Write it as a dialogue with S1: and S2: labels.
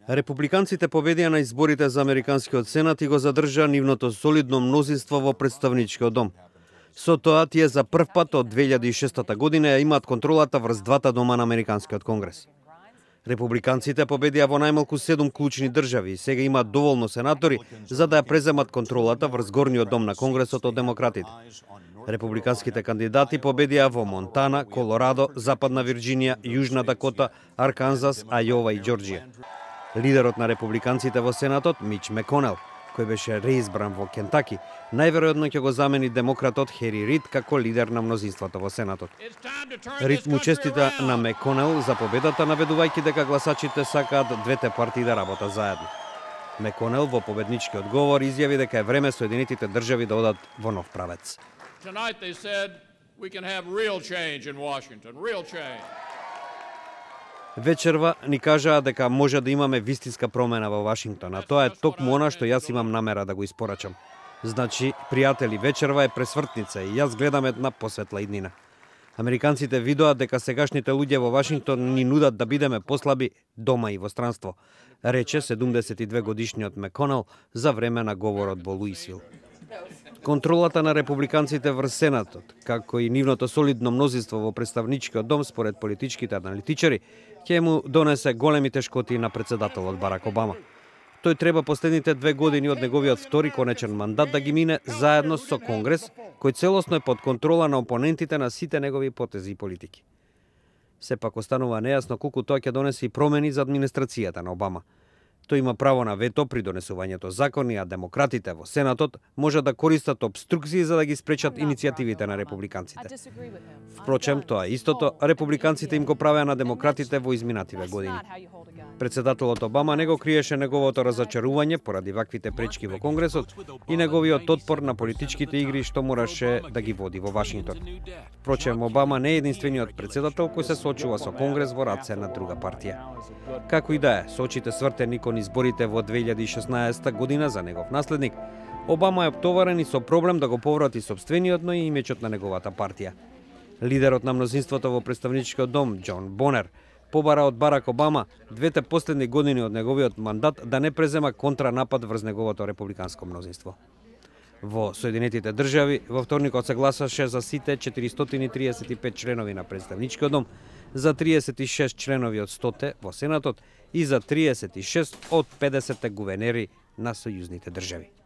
S1: Републиканците победија на изборите за Американскиот сенат и го задржаа нивното солидно мнозинство во Претставничкиот дом. Со тоа тие за прв пат од 2006 година ја имаат контролата врз двата дома на Американскиот конгрес. Републиканците победија во најмалку 7 клучни држави и сега имаат доволно сенатори за да ја преземат контролата врз горниот дом на Конгресот од демократите. Републиканските кандидати победија во Монтана, Колорадо, Западна Вирџинија, Јужна Дакота, Арканзас, Ајова и Џорџија. Лидерот на републиканците во Сенатот, Мич Меконел, кој беше реизбран во Кентаки, најверојатно ќе го замени демократот Хери Рид како лидер на мнозинството во Сенатот. Рид му честита на Меконел за победата, наведувајќи дека гласачите сакаат двете партии да работат заедно. Меконел во победничкиот говор изјави дека е време Соединетите држави да одат во нов правец.
S2: Tonight they said we can have real change in Washington, real change.
S1: Вечерва ни кажаа дека може да имаме вистинска промена во Вашингтон, а тоа е токму она што јас имам намера да го испорачам. Значи, пријатели, вечерва е пресвртница и јас гледам една посветла иднина. Американците видоа дека сегашните луѓе во Вашингтон ни нудат да бидеме послаби дома и во странство, рече 72 годишниот Меконел за време на говорот во Луисвил. Контролата на републиканците врз Сенатот, како и нивното солидно мнозинство во Претставничкиот дом според политичките аналитичари, ќе му донесе големи тешкоти на претседателот Барак Обама. Тој треба последните 2 години од неговиот втори конечен мандат да ги мине заедно со Конгрес, кој целосно е под контрола на опонентите на сите негови потези и политики. Сепак останува нејасно колку тоа ќе донесе и промени за администрацијата на Обама. Тој има право на вето при донесувањето закони, а демократите во Сенатот може да користат обструкции за да ги спречат иницијативите на републиканците. Впрочем, тоа истото републиканците им го правеа на демократите во изминативе години. Претседателот Обама не го криеше неговото разочарување поради ваквите пречки во Конгресот и неговиот отпор на политичките игри што мораше да ги води во Вашингтон. Впрочем, Обама не е единствениот претседател кој се соочува со Конгрес во раце на друга партија. Како и да е, со очите свртени кон изборите во 2016 година за негов наследник, Обама е оптоварен и со проблем да го поврати сопствениот, но и имечот на неговата партија. Лидерот на мнозинството во Претставничкиот дом, Џон Бонер, побара од Барак Обама двете последни години од неговиот мандат да не презема контранапад врз неговото републиканско мнозинство. Во Соединетите држави во вторникот се гласаше за сите 435 членови на Претставничкиот дом, за 36 членови од 100 во Сенатот и за 36 од 50 гувернери на сојузните држави.